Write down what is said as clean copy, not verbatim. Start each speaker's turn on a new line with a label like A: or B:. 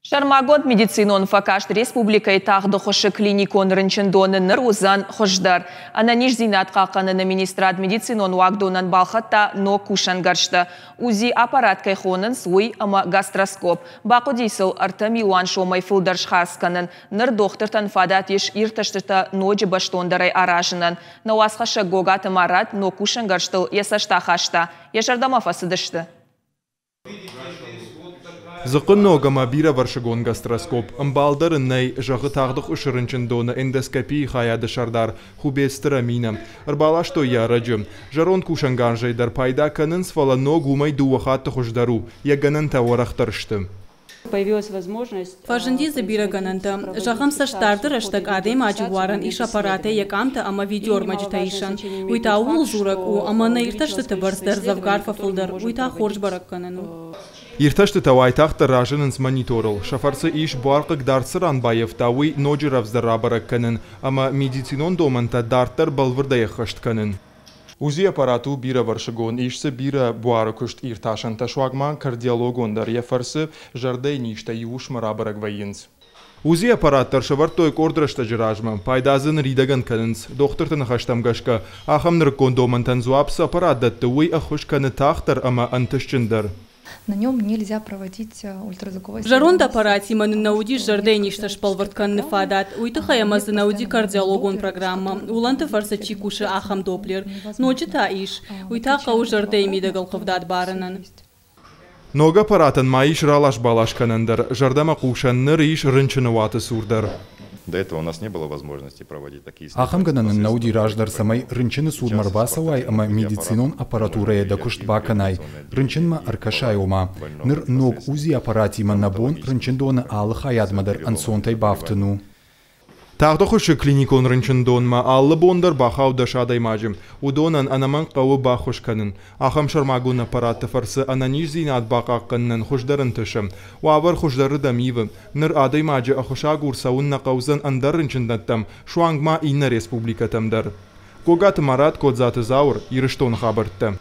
A: Сӕрмагонд медицинон фӕкаст республикӕйы тагъд ӕххуысы клиникон рынчындоны ныр уыдзӕн хуыздӕр. Ӕнӕниздзинад хъахъхъӕныны министрад медицинон уагдонӕн балхӕдта ног кусӕнгӕрзтӕ. УЗИ аппарат кӕй хонынц, уый ӕмӕ гастроскоп. Бахъуыди сыл 3 милуан сомӕй фылдӕр схардз кӕнын. Ныр дохтыртӕн фадат ис иртӕстытӕ ноджы бӕстондӕрӕй аразынӕн. Нӕ уацхӕссӕг Гогаты Марат ног кусӕнгӕрзтыл йӕ цӕст ахаста. Йӕ зӕрдӕмӕ фӕцыдысты.
B: Дзыхъхъынног ӕмӕ бирӕвӕрсыгон гастроскоп ӕмбал дӕр ын нӕй, зӕгъы тагъд ӕххуысы рынчындоны эндоскопийы хайады сӕрдар Хубецты Раминӕ. Ӕрбаластой йӕ ӕрӕджы. Зӕронд кусӕнгарзӕй дӕр пайда кӕнынц, фӕлӕ ног уымӕй дыууӕ хатты хуыздӕр у, йӕ гӕнӕнтӕ уӕрӕхдӕр сты.
C: Появилась возможность.
D: Фӕзынди дзы бирӕ гӕнӕнтӕ. Зӕгъӕм, цӕстдарды рӕстӕг адӕймаджы буарӕн ис аппаратӕй йӕ къамтӕ ӕмӕ видеоӕрмӕджытӕ исӕн. Уый та ууыл дзурӕг у, ӕмӕ нӕ иртӕстыты бӕрц дӕр дзӕвгар фӕфылдӕр. Уый та хорз бӕрӕггӕнӕн у.
B: Иртӕстытӕ уайтагъддӕр разынынц мониторыл. Сӕ фӕрцы ис, буар хъыгдард цы ран баййӕфта, уый ноджы рӕвдздӕр рабӕрӕг кӕнын ӕмӕ медицинон домӕнтӕ дарддӕр бӕлвырдӕй ӕххӕст кӕнын. УЗИ аппарат у бирӕвӕрсыгон, ис дзы бирӕ буары куыст иртасӕнтӕ, суанг ма кардиологон дӕр, йӕ фӕрцы зӕрдӕйы низтӕ иу уысммӕ рабӕрӕг вӕййынц. УЗИ аппарат дӕр сӕвӕрдтой къорд рӕстӕджы размӕ, пайда дзы ныридӕгӕн кӕнынц. Дохтырты ныхӕстӕм гӕсгӕ, ахӕм нырыккон домӕнтӕн дзуапп цы аппарат дӕтты, уый ӕххуыс кӕны тагъддӕр ӕмӕ ӕнтыстджындӕр.
E: На нем нельзя проводить ультразвуковое
D: Зӕронд аппаратимӕ нын нӕ уыдис зӕрдӕйы низтӕ сбӕлвырд кӕныны фадат, уый тыххӕй ӕмӕ дзы нӕ уыди кардиологон программӕ, уылӕнты фӕрцы чи кусы, ахӕм доплер. Ноджы та ис. Уый та хъӕуы зӕрдӕйы мидӕг ӕлхъывдад барынӕн.
B: Ног аппаратӕн ма ис ралас-балас кӕнӕн дӕр, зӕрдӕмӕ хъусӕн ныр ис рынчыны уаты цур дӕр.
F: До этого у нас не было возможности проводить такие
G: Ахӕм гӕнӕн нын нӕ уыди раздӕр, цӕмӕй рынчыны цурмӕ ӕрбацӕуай ӕмӕ медицинон аппаратурӕйӕ дӕ куыст бакӕнай, рынчынмӕ ӕркӕсай ома. Ныр ног УЗИ аппаратимӕ нӕ бон рынчындоны алы хайадмӕ дӕр ӕнцонтӕй бафтын у.
B: Тагъд ӕххуысы клиникон рынчындонмӕ алы бон дӕр бахауы 10 адӕймаджы. Уыдонӕн ӕнӕмӕнг хъӕуы баххуыс кӕнын. Ахӕм сӕрмагонд аппаратты фӕрцы ӕнӕниздзинад бахъахъхъӕнынӕн хуыздӕр ӕнтысы. Уавӕр хуыздӕрырдӕм ивы. Ныр адӕймаджы ӕххуысагур цӕуын нӕ хъӕудзӕн ӕндӕр рынчындӕттӕм, суанг ма иннӕ республикӕтӕм дӕр. Гогаты Марат, Кодзаты Зауыр, Ирыстоны хабӕрттӕ.